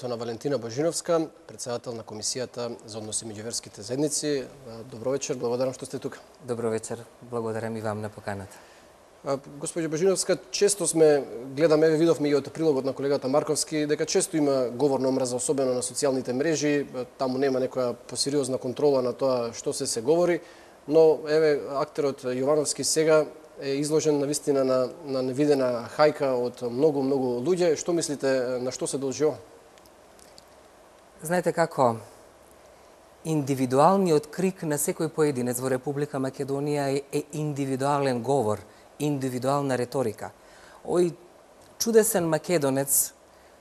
на Валентина Божиновска, председател на Комисијата за односи меѓу верските заедници. Добро вечер, благодарам што сте тука. Добро вечер, благодарам и вам на поканата. Госпоѓо Божиновска, често гледаме, видовме и од прилогот на колегата Марковски, дека често има говор на омраза, особено на социјалните мрежи, таму нема некоја посериозна контрола на тоа што се говори, но еве актерот Јовановски сега е изложен навистина на невидена хајка од многу луѓе. Што мислите, на што се должи ова? Знаете како, индивидуалниот крик на секој поединец во Република Македонија е индивидуален говор, индивидуална реторика. Ој чудесен македонец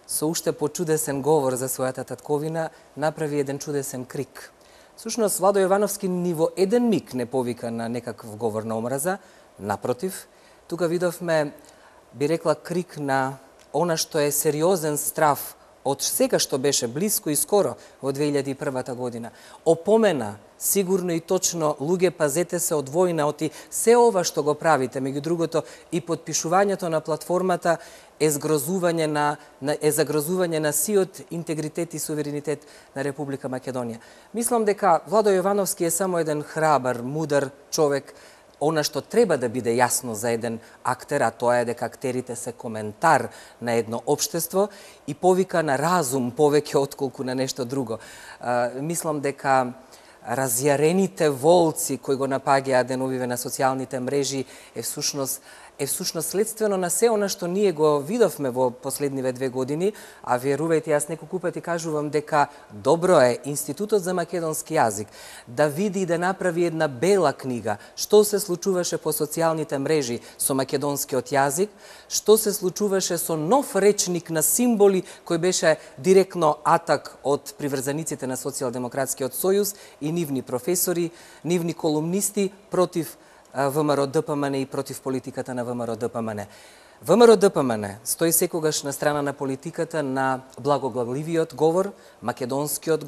со уште почудесен говор за својата татковина направи еден чудесен крик. Всушност, Владо Јовановски ни во еден миг не повика на некаков говор на омраза, напротив, тука видовме, би рекла, крик на она што е сериозен страв од сега што беше близко и скоро во 2001 година. Опомена, сигурно и точно, луѓе, пазете се од војна, оти се ова што го правите, меѓу другото и подпишувањето на платформата е загрозување на сиот интегритет и суверенитет на Република Македонија. Мислам дека Владо Јовановски е само еден храбар, мудар човек. Она што треба да биде јасно за еден актер, а тоа е дека актерите се коментар на едно општество и повика на разум повеќе отколку на нешто друго. Мислам дека разјарените волци кои го напаѓаат деновиве на социјалните мрежи е всушност следствено на се она што ние го видовме во последниве 2 години, а верувајте, јас неколку пати кажувам дека добро е Институтот за македонски јазик да види и да направи една бела книга што се случуваше по социјалните мрежи со македонскиот јазик, што се случуваше со нов речник на символи кој беше директно атак од приврзаниците на Социјалдемократскиот сојуз и нивни професори, нивни колумнисти против ВМРО-ДПМН и против политиката на ВМРО-ДПМН. ВМРО-ДПМН стои секогаш на страна на политиката на благоглавливиот говор, македонскиот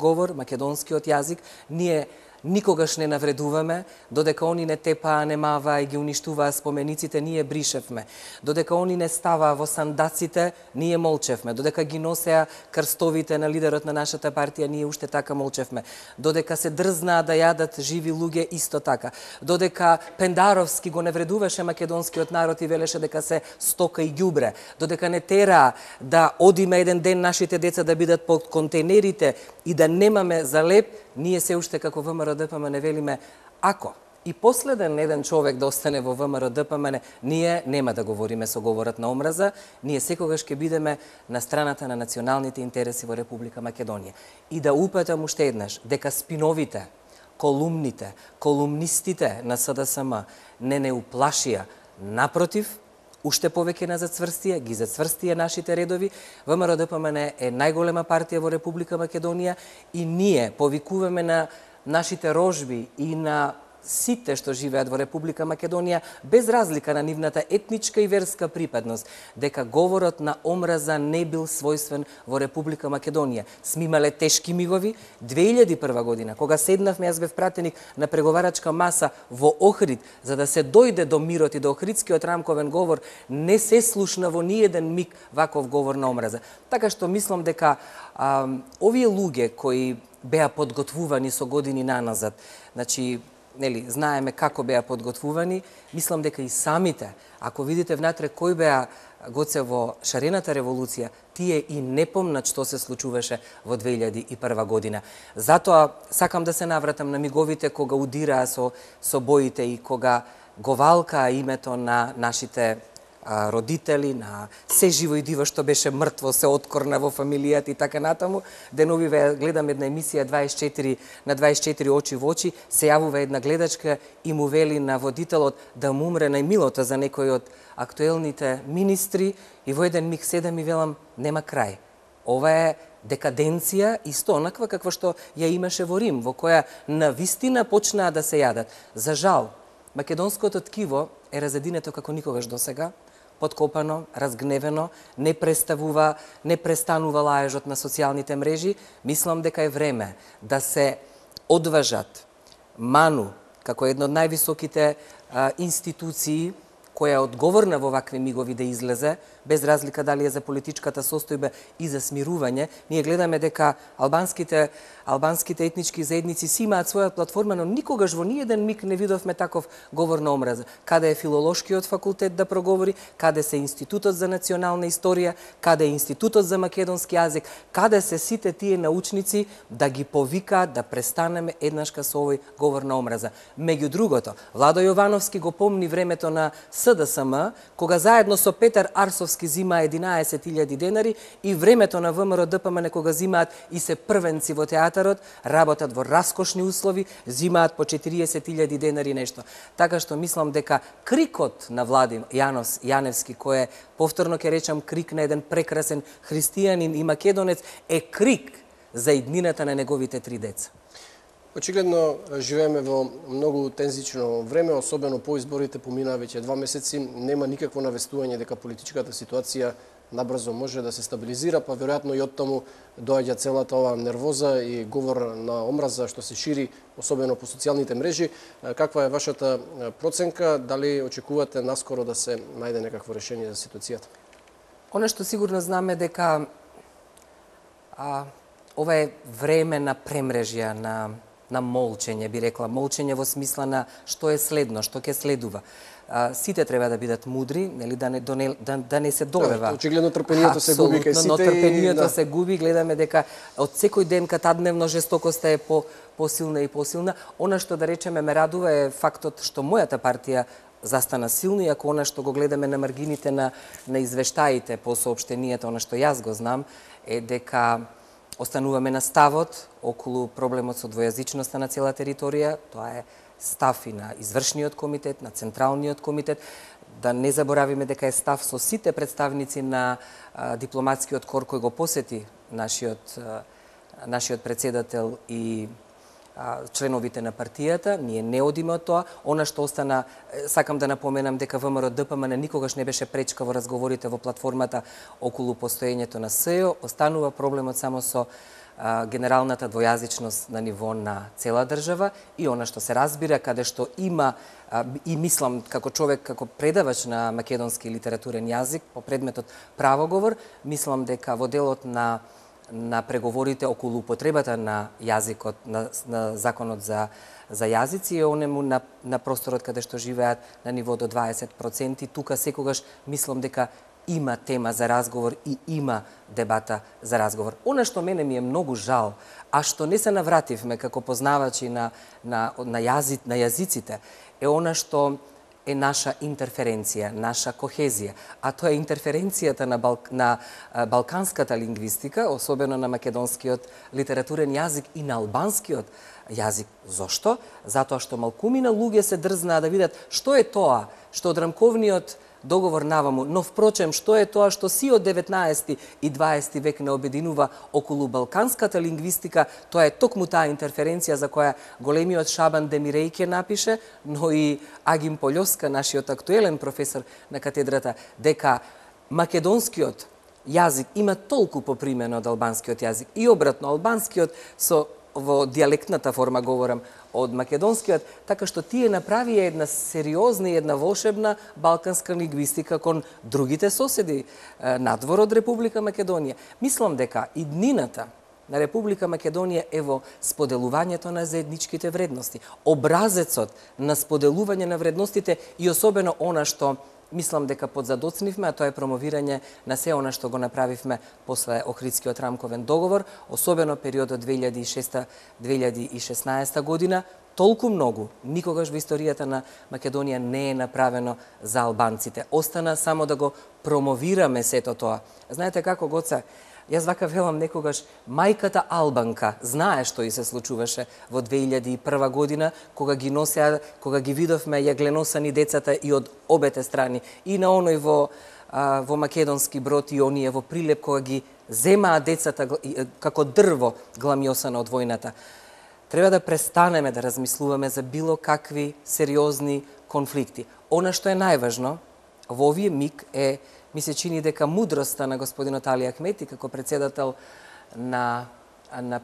јазик. Ние никогаш не навредуваме, додека они не тепаа, немаваа и ги уништуваа спомениците, ние бришевме. Додека они не ставаа во сандаците, ние молчевме. Додека ги носеа крстовите на лидерот на нашата партија, ние уште така молчевме. Додека се дрзнаа да јадат живи луѓе, исто така. Додека Пендаровски го навредуваше македонскиот народ и велеше дека се стока и ѓубре. Додека не тераа да одиме еден ден нашите деца да бидат под контейнерите и да немаме за леп, ние се уште како ВМРО-ДПМН велиме, ако и последен еден човек да остане во ВМРО-ДПМН, ние нема да говориме со говорот на омраза, ние секогаш ќе бидеме на страната на националните интереси во Република Македонија. И да упатам уште еднаш, дека спиновите, колумните, колумнистите на СДСМ не уплашија, напротив, уште повеќе на зацврстија, ги зацврстија нашите редови. ВМРО-ДПМН е најголема партија во Република Македонија и ние повикуваме на нашите рожби и на сите што живеат во Република Македонија, без разлика на нивната етничка и верска припадност, дека говорот на омраза не бил својствен во Република Македонија. Сме имале тешки мигови. 2001 година, кога седнавме, јас бев пратеник на преговарачка маса во Охрид, за да се дојде до мирот и до Охридскиот рамковен говор, не се слушна во ниеден миг ваков говор на омраза. Така што мислам дека овие луѓе кои беа подготвувани со години наназад, значи, знаеме како беа подготвувани, мислам дека и самите, ако видите внатре кој беа Гоце во шарената револуција, тие и не помнат што се случуваше во 2001 година. Затоа сакам да се навратам на миговите кога удираа со боите и кога го валкаа името на нашите родители, на се живо и диво што беше мртво, се откорна во фамилијата и така натаму. Деновиве гледам една емисија 24 на 24 очи во очи, се јавува една гледачка и му вели на водителот да му умре најмилото за некој од актуелните министри и во еден миг седам и велам нема крај. Ова е декаденција исто онаква каква што ја имаше во Рим, во која навистина почнаа да се јадат. За жал, македонското ткиво е разединето како никогаш досега, подкопано, разгневено, не престанува лаежот на социјалните мрежи. Мислам дека е време да се одважат МАНУ, како една од највисоките институции која е одговорна во вакви мигови да излезе, без разлика дали е за политичката состојба и за смирување. Ние гледаме дека албанските етнички заедници си имаат своја платформа, но никогаш во ниеден миг не видовме таков говор на омраза. Каде е филолошкиот факултет да проговори, каде се Институтот за национална историја, каде е Институтот за македонски јазик, каде се сите тие научници да ги повикаат да престанеме еднашка со овој говор на омраза. Меѓу другото, Владо Јовановски го помни времето на СДСМ, кога заедно со Петар Арсовски зимаа 11.000 денари и времето на ВМРО ДПМН кога зимаат и се првенци во театарот, работат во раскошни услови, зимаат по 40.000 денари нешто. Така што мислам дека крикот на Владим Јаневски, кој е, повторно ќе речам, крик на еден прекрасен христијанин и македонец, е крик за иднината на неговите 3 деца. Очигледно живееме во многу тензично време, особено по изборите, поминаа веќе 2 месеци, нема никакво навестување дека политичката ситуација набрзо може да се стабилизира, па веројатно и оттаму доаѓа целата оваа нервоза и говор на омраза што се шири, особено по социјалните мрежи. Каква е вашата проценка? Дали очекувате наскоро да се најде некакво решение за ситуацијата? Она што сигурно знаме дека ова е време на премрежја, на молчење, би рекла, молчење во смисла на што е следно, што ќе следува. Сите треба да бидат мудри, нели, да не се долева. Очигледно трпението се губи кај сите. Но трпението се губи, гледаме дека од секој ден катадневно жестокоста е посилна и посилна. Она што да речеме ме радува е фактот што мојата партија застана силно, иако она што го гледаме на маргините на извештаите по соопштенијата, она што јас го знам, е дека остануваме на ставот околу проблемот со двојазичноста на цела територија. Тоа е став и на извршниот комитет, на централниот комитет. Да не заборавиме дека е став со сите представници на дипломатскиот кор кој го посети нашиот председател и членовите на партијата. Ние не одиме од тоа. Она што остана, сакам да напоменам дека ВМРО ДПМН никогаш не беше пречка во разговорите во платформата околу постоењето на СЕО. Останува проблемот само со генералната двојазичност на ниво на цела држава и она што се разбира, каде што има, и мислам како човек, како предавач на македонски литературен јазик по предметот правоговор, мислам дека во делот на преговорите околу употребата на јазикот, на законот за јазици и онему на просторот каде што живеат на ниво до 20%. Тука секогаш мислам дека има тема за разговор и има дебата за разговор. Она што мене ми е многу жал, а што не се навративме како познавачи на јазиците, е она што е наша интерференција, наша кохезија, а тоа е интерференцијата на балканската лингвистика, особено на македонскиот литературен јазик и на албанскиот јазик. Зошто? Затоа што малкумина луѓе се дрзнаа да видат што е тоа што од рамковниот договор наваму, но впрочем што е тоа што си од 19 и 20 век не обединува околу балканската лингвистика, тоа е токму таа интерференција за која големиот Шабан Демирејке напише, но и Агим Полјоска, нашиот актуелен професор на катедрата, дека македонскиот јазик има толку попримено од албанскиот јазик и обратно, албанскиот во дијалектната форма говорам од македонскиот, така што тие направија една сериозна и една волшебна балканска лингвистика кон другите соседи надвор од Република Македонија. Мислам дека иднината на Република Македонија е во споделувањето на заедничките вредности, образецот на споделување на вредностите и особено она што мислам дека подзадоцнивме, а тоа е промовирање на се она што го направивме после Охридскиот рамковен договор, особено периодот 2006-2016 година. Толку многу никогаш во историјата на Македонија не е направено за албанците. Остана само да го промовираме сето тоа. Знаете како, Гоце? Јас вака велам некогаш, мајката албанка знае што и се случуваше во 2001 година, кога ги видовме јагленосани децата и од обете страни, и на оној во македонски Брод и оние во Прилеп, кога ги земаа децата како дрво гламјосано од војната. Треба да престанеме да размислуваме за било какви сериозни конфликти. Она што е најважно во овие миг е, ми се чини дека мудроста на господинот Али Ахмети како председател на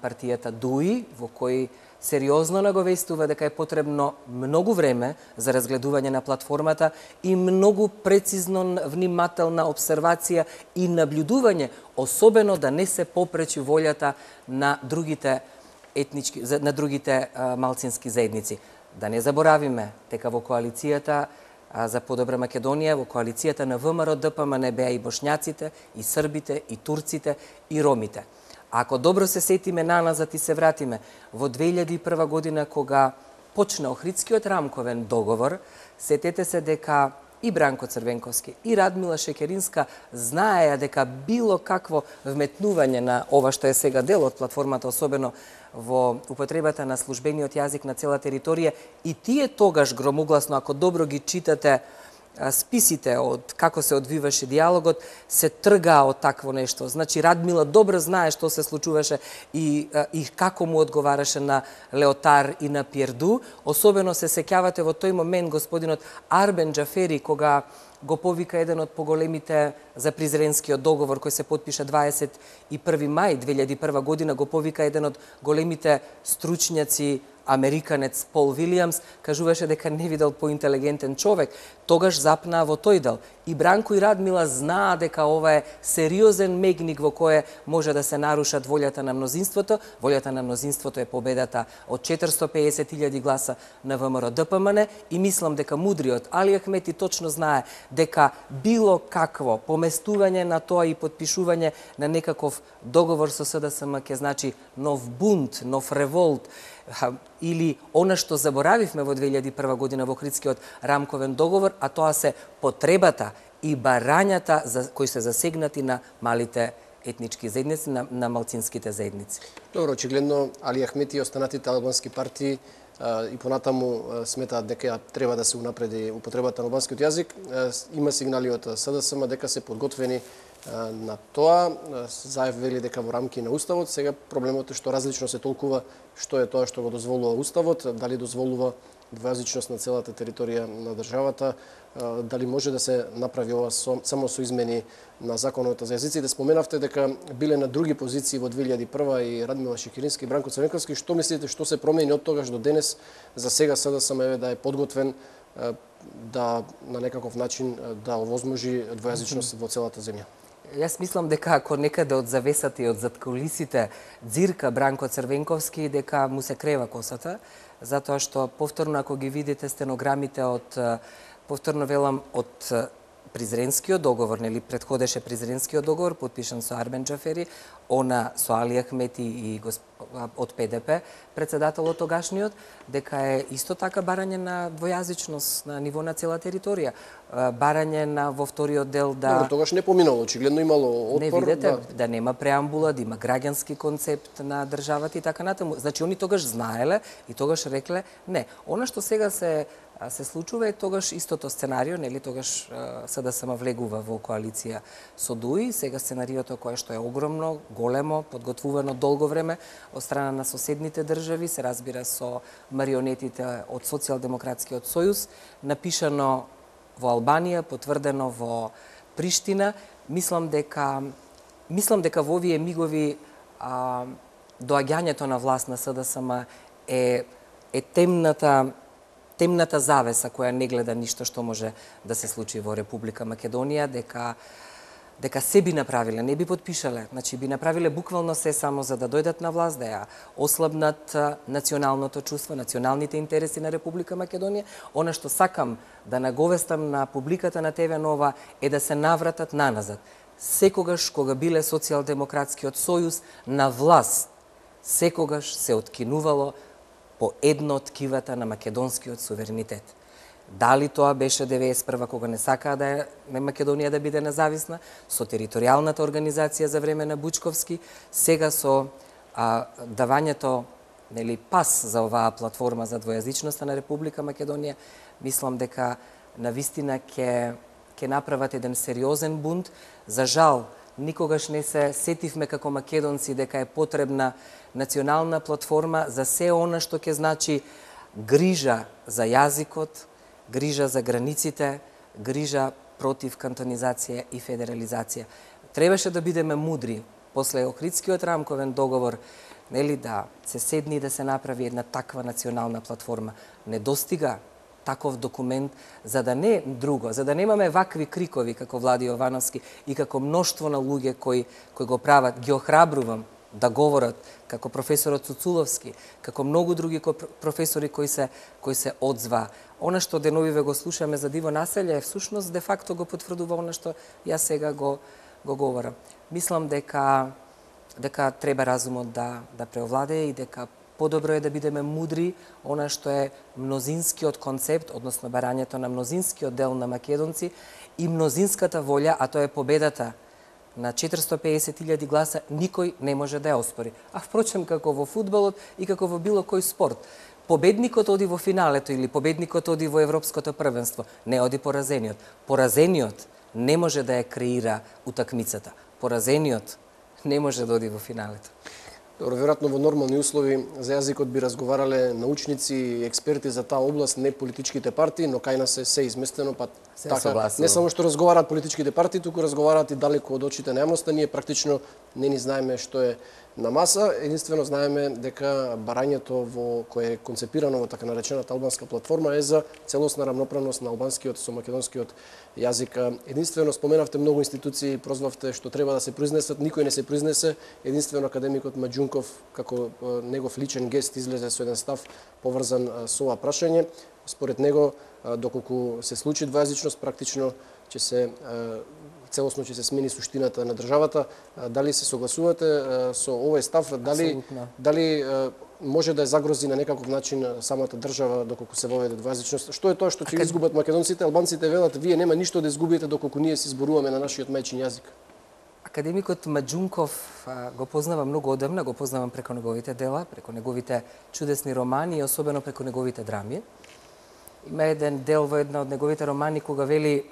партијата ДУИ, во кој сериозно наговестува дека е потребно многу време за разгледување на платформата и многу прецизно внимателна обсервација и наблюдување, особено да не се попречи волјата на другите етнички, на другите малцински заедници. Да не заборавиме дека во коалицијата за подобра Македонија, во коалицијата на ВМРО ДПМН беа и бошњаците, и србите, и турците, и ромите. Ако добро се сетиме наназад и се вратиме во 2001 година кога почна Охридскиот рамковен договор, сетете се дека и Бранко Црвенковски и Радмила Шекеринска знаеја дека било какво вметнување на ова што е сега дел од платформата, особено во употребата на службениот јазик на цела територија, и тие тогаш громогласно, ако добро ги читате списите од како се одвиваше диалогот, се тргаа од такво нешто. Значи, Радмила добро знае што се случуваше и како му одговараше на Леотар и на Пиерду. Особено се сеќавате во тој момент господинот Арбен Џафери, кога го повика еден од поголемите за Призренскиот договор кој се потпиша 21 мај 2001 година, го повика еден од големите стручњаци, американец Пол Вилијамс, кажуваше дека не видел поинтелигентен човек, тогаш запнаа во тој дел. И Бранко и Радмила знаа дека ова е сериозен мегник во кој може да се нарушат волјата на мнозинството. Волјата на мнозинството е победата од 450.000 гласа на ВМРО ДПМН и мислам дека мудриот Али Ахмети точно знае дека било какво поместување на тоа и подпишување на некаков договор со СДСМ ќе значи нов бунт, нов револт, или она што заборавивме во 2001 година во Охридскиот рамковен договор, а тоа се потребата и барањата кои се засегнати на малите етнички заедници, на малцинските заедници. Добро, очигледно Али Ахмети и останатите албански партии и понатаму сметаат дека треба да се унапреди употребата на албанскиот јазик. Има сигнали од СДСМ дека се подготвени на тоа. Заев вели дека во рамки на Уставот. Сега проблемот е што различно се толкува што е тоа што го дозволува Уставот, дали дозволува двојазичност на целата територија на државата, дали може да се направи ова само со измени на законот за јазиците. Споменавте дека биле на други позиции во 2001 и Радмила Шекерински и Бранко Црвенковски. Што мислите што се промени од тогаш до денес? За сега СДСМ да е подготвен да на некаков начин да овозможи двојазичност во целата земја? Јас мислам дека ако некаде од завесата и од заткулисите дзирка Бранко Црвенковски, дека му се крева косата, затоа што повторно ако ги видите стенограмите од, повторно велам, од Призренскиот договор, нели претходеше Призренскиот договор, подпишан со Арбен Џафери, она со Али Ахмети и од ПДП, председателот тогашниот, дека е исто така барање на двојазичност на ниво на цела територија. Барање на во вториот дел да... Добро, тогаш не поминало, очигледно имало отпор. Не видите, да нема преамбула, да има граѓански концепт на државата и така натаму. Значи, они тогаш знаеле и тогаш рекле не. Она што сега се случува е тогаш истото сценарио, нели тогаш СДСМ влегува во коалиција со ДУИ, сега сценариото кое што е огромно, големо, подготвувано долго време од страна на соседните држави, се разбира со марионетите од Социјалдемократскиот сојуз, напишано во Албанија, потврдено во Приштина. Мислам дека во овие мигови доаѓањето на власт на СДСМ е темната завеса која не гледа ништо што може да се случи во Република Македонија, дека се би направиле, не би подпишале, значи би направиле буквално се само за да дојдат на власт, да ја ослабнат националното чувство, националните интереси на Република Македонија. Она што сакам да наговестам на публиката на ТВ Нова е да се навратат наназад. Секогаш кога биле Социјалдемократскиот сојуз на власт, секогаш се откинувало по едно од ткивата на македонскиот суверенитет. Дали тоа беше 91 кога не сакаа да е Македонија да биде независна, со територијалната организација за време на Бучковски, сега со давањето, нели, пас за оваа платформа за двојазичноста на Република Македонија, мислам дека навистина ќе направат еден сериозен бунт. За жал, никогаш не се сетивме како македонци дека е потребна национална платформа за се она што ќе значи грижа за јазикот, грижа за границите, грижа против кантонизација и федерализација. Требаше да бидеме мудри после Охридскиот рамковен договор, нели, да се седни и да се направи една таква национална платформа. Не достига таков документ, за да не друго, за да немаме вакви крикови како Влади Јовановски и како мноштво на луѓе кои го прават, ги охрабрувам да говорат, како професорот Цуцуловски, како многу други професори кои се одзва. Она што деновиве го слушаме за диво населје, всушност де факто го потврдува она што јас сега го говорам. Мислам дека треба разумот да преовладее и дека подобро е да бидеме мудри, она што е мнозинскиот концепт, односно барањето на мнозинскиот дел на македонци и мнозинската волја, а тоа е победата на 450.000 гласа, никој не може да ја оспори. А впрочем, како во фудбалот и како во било кој спорт, победникот оди во финалето или победникот оди во европското првенство, не оди поразениот. Поразениот не може да ја креира утакмицата. Поразениот не може да оди во финалето. Добро, веројатно во нормални услови за јазикот би разговарале научници и експерти за таа област, не политичките партии, но кај нас се изместено, па така, не само што разговараат политичките партии, туку разговараат и далеку од очите на јавноста, ние практично не ни знаеме што е на маса, единствено знаеме дека барањето кое е концепирано во така наречената албанска платформа е за целосна рамноправност на албанскиот со македонскиот јазик. Единствено споменавте многу институции, прозвавте што треба да се произнесат, никој не се произнесе, единствено академикот Маџунков како негов личен гест излезе со еден став поврзан со ова прашање. Според него, доколку се случи двојазичност, практично ќе се целосно ќе се смени суштината на државата. Дали се согласувате со овој став? Дали може да ја загрози на некаков начин самата држава доколку се воведе двојазичност? Што е тоа што ќе изгубат македонците? Албанците велат, вие нема ништо да изгубите доколку ние се зборуваме на нашиот мајчин јазик. Академикот Маџунков го познавам многу одамна, го познавам преку неговите дела, преку неговите чудесни романи и особено преку неговите драми. Има еден дел во една од неговите романи кога вели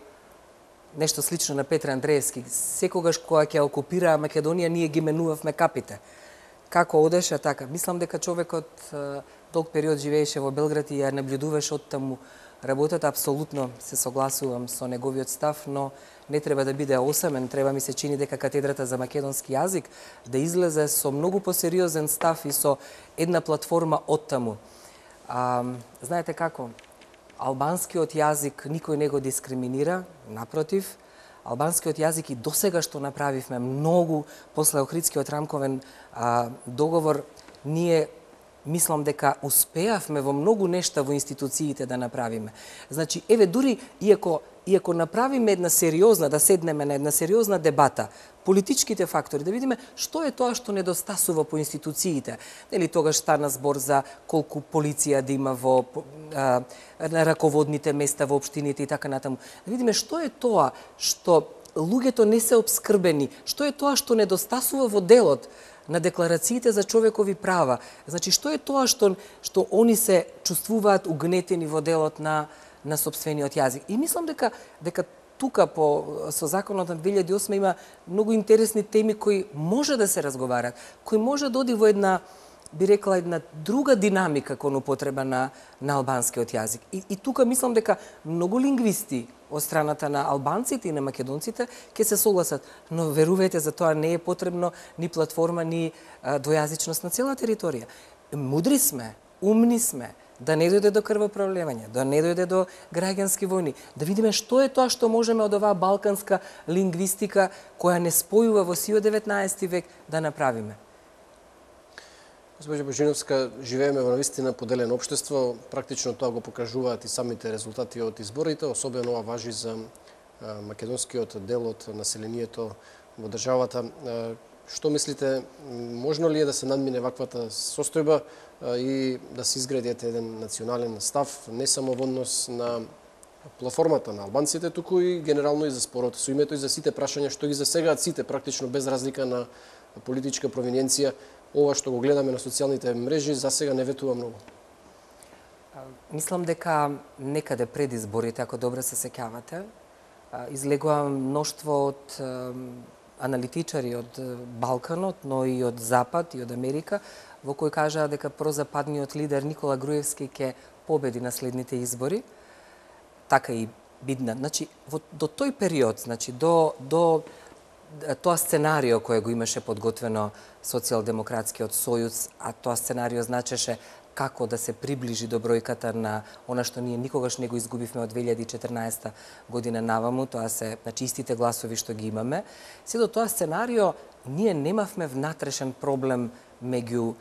нешто слично на Петре Андреевски. Секогаш кога ќе окупира Македонија, ние ги менувавме капите. Како одеше така? Мислам дека човекот долг период живееше во Белград и ја наблюдуваше од таму работата. Апсолутно се согласувам со неговиот став, но не треба да биде осамен. Треба ми се чини дека катедрата за македонски јазик да излезе со многу посериозен став и со една платформа од таму. Знаете како? Албанскиот јазик никој не го дискриминира, напротив, албанскиот јазик и досега што направивме многу после Охридскиот рамковен договор, ние мислам дека успеавме во многу нешта во институциите да направиме. Значи, еве, дури иако направиме една сериозна, да седнеме на една сериозна дебата, политичките фактори, да видиме што е тоа што недостасува по институциите. Нели тогаш стана збор за колку полиција да има во на раководните места во општините и така натаму. Да видиме што е тоа што луѓето не се обскрбени, што е тоа што недостасува во делот на декларациите за човекови права. Значи, што е тоа што они се чувствуваат угнетени во делот на сопствениот јазик. И мислам дека тука со законот на 2008 има многу интересни теми кои може да се разговарат, кои може да оди во една, би рекла, една друга динамика кон употреба на албанскиот јазик. И тука мислам дека многу лингвисти од страната на албанците и на македонците ќе се согласат, но верувајте, за тоа не е потребно ни платформа, ни двојазичност на цела територија. Мудри сме, умни сме, да не дојде до крвопролевање, да не дојде до граѓански војни, да видиме што е тоа што можеме од оваа балканска лингвистика која не спојува во сиот 19 век да направиме. Госпоѓа Божиновска, живееме во навистина поделено општество, практично тоа го покажуваат и самите резултати од изборите, особено ова важи за македонскиот дел од населението во државата. Што мислите, можно ли е да се надмине ваквата состојба и да се изгради еден национален став, не само во однос на платформата на албанците, туку и генерално и за спорот со името и за сите прашања што ги засегаат сите, практично без разлика на политичка провиненција? Ова што го гледаме на социјалните мрежи засега не ветува многу. Мислам дека некаде пред изборите, ако добро се сеќавате, излегува мноштво од аналитичари од Балканот, но и од Запад и од Америка, во кои кажаа дека прозападниот лидер Никола Груевски ќе победи на следните избори. Така и бидна. Значи, до тој период, значи до тоа сценарио кое го имаше подготвено Социјалдемократскиот сојуз, а тоа сценарио значеше како да се приближи до бројката на она што ние никогаш не го изгубивме од 2014 година наваму, тоа се истите гласови што ги имаме. Се до тоа сценарио ние немавме внатрешен проблем меѓу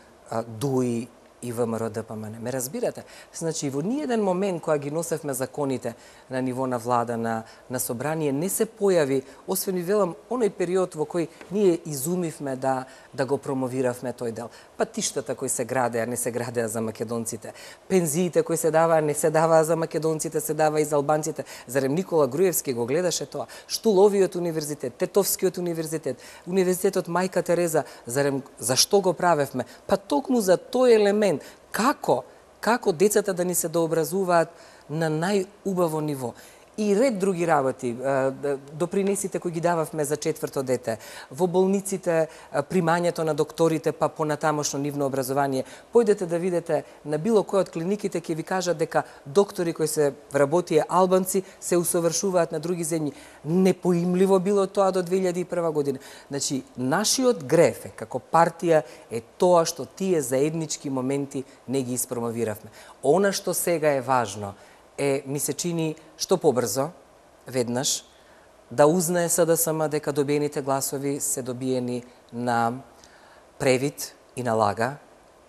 ДУИ и ВМРО-ДПМН. Ме разбирате? Значи, во ниеден момент кога ги носевме законите на ниво на влада, на собрание, не се појави, освен и велам, оној период во кој ние изумивме да го промовиравме тој дел. Патиштата кои се градеа, не се градеа за македонците. Пензиите кои се даваа, не се даваа за македонците, се даваа и за албанците. Зарем Никола Груевски го гледаше тоа? Штуловиот универзитет, Тетовскиот универзитет, Универзитетот Мајка Тереза, зарем зашто го правевме? Па токму за тој елемент. Како децата да ни се дообразуваат на најубаво ниво. И ред други работи, допринесите кои ги дававме за четврто дете, во болниците, примањето на докторите, па понатамошно нивно образование. Појдете да видите на било кој од клиниките ќе ви кажат дека доктори кои се вработија албанци се усовршуваат на други земји. Непоимливо било тоа до 2001 година. Значи, нашиот греф како партија е тоа што тие заеднички моменти не ги испромовиравме. Она што сега е важно ми се чини што побрзо, веднаш, да узнае СДСМ дека добиените гласови се добиени на превид и на лага.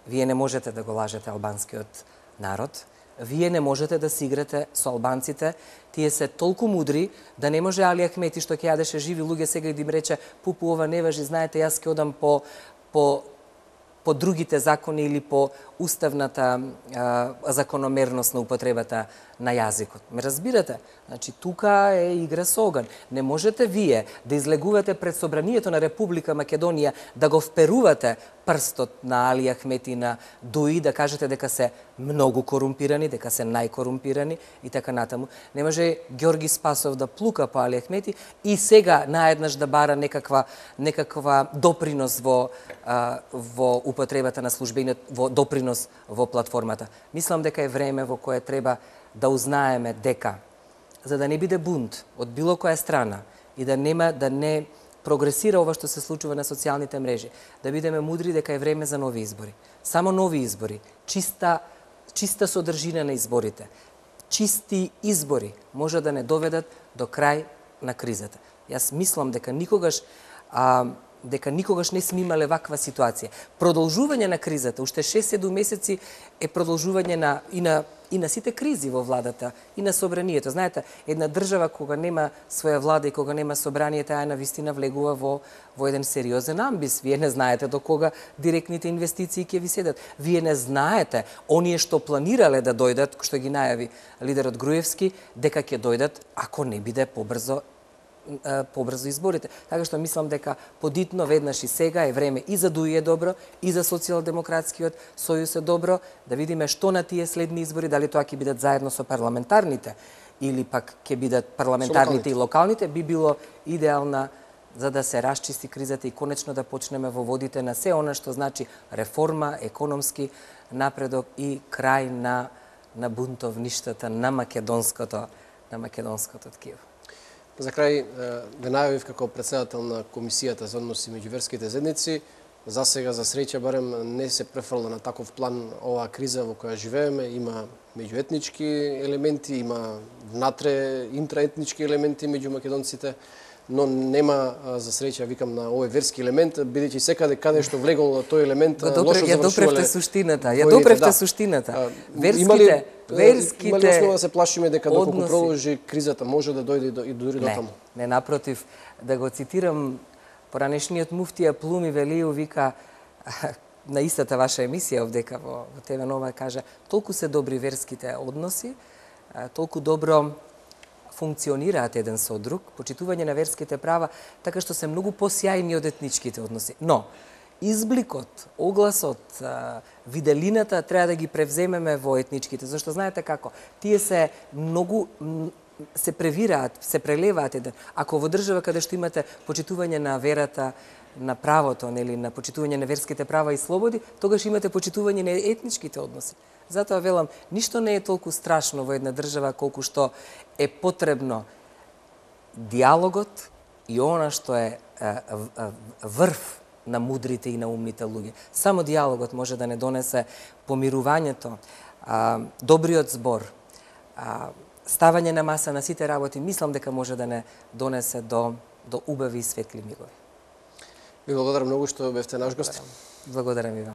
Вие не можете да го лажете албанскиот народ. Вие не можете да си играте со албанците. Тие се толку мудри да не може Али Ахмети што ќе јадеше живи луѓе сега и да им рече пупу ова не важи, знаете, јас ќе одам по другите закони или по уставната закономерност на употребата на јазикот. Ме разбирате? Значи, тука е игра со оган. Не можете вие да излегувате пред собранието на Република Македонија да го вперувате прстот на Али Ахмети и на ДУИ, да кажете дека се многу корумпирани, дека се најкорумпирани и така натаму. Не може Ѓорги Спасов да плука по Али Ахмети и сега наеднаш да бара некаква допринос во употребата на службениот, во допринос во платформата. Мислам дека е време во кое треба да узнаеме дека, за да не биде бунт од било која страна и да не прогресира ова што се случува на социјалните мрежи, да бидеме мудри дека е време за нови избори. Само нови избори, чиста содржина на изборите, чисти избори може да не доведат до крај на кризата. Јас мислам дека никогаш не сме имале ваква ситуација. Продолжување на кризата, уште 6-7 месеци е продолжување и на сите кризи во владата, и на собранието. Знаете, една држава кога нема своја влада и кога нема собрание, таа навистина влегува во еден сериозен амбис. Вие не знаете до кога директните инвестиции ќе ви седат. Вие не знаете, оние што планирале да дојдат, што ги најави лидерот Груевски, дека ќе дојдат ако не биде побрзо изборите. Така што мислам дека подитно веднаш и сега е време и за ДУИ е добро, и за Социјалдемократскиот сојуз е добро, да видиме што на тие следни избори, дали тоа ќе бидат заедно со парламентарните или пак ќе бидат парламентарните и локалните, би било идеална за да се расчисти кризата и конечно да почнеме во водите на се она што значи реформа, економски напредок и крај на бунтовништата на македонското ткиво. За крај, ве најавив како председател на Комисијата за односи меѓу верските заедници. За сега, за среќа, барем не се префрла на таков план оваа криза во која живееме. Има меѓуетнички елементи, има внатре интраетнички елементи меѓу македонците, но нема, за среќа, викам, на овој верски елемент, бидејќи секаде каде што влегол тој елемент, лошо завршувале. Ја допревте суштината. Верските имали основа да се плашиме дека доколку продолжи кризата може да дојде и дури до таму? Не, напротив, да го цитирам, поранешниот муфтија Плуми Велију вика на истата ваша емисија овдека во ТВ Нова, кажа, толку се добри верските односи, толку добро функционираат еден со друг, почитување на верските права, така што се многу посјајни од етничките односи. Но, избликот, огласот, виделината треба да ги превземеме во етничките, зашто знаете како, тие се многу се превираат, се прелеваат еден. Ако во држава каде што имате почитување на верата, на правото, нели, на почитување на верските права и слободи, тогаш имате почитување на етничките односи. Затоа велам, ништо не е толку страшно во една држава колку што е потребно диалогот и она што е врв на мудрите и на умните луѓе. Само диалогот може да не донесе помирувањето, добриот збор, ставање на маса на сите работи, мислам дека може да не донесе до убави и светли мигови. Ви благодарам многу што бевте наш гост. Благодарам и вам.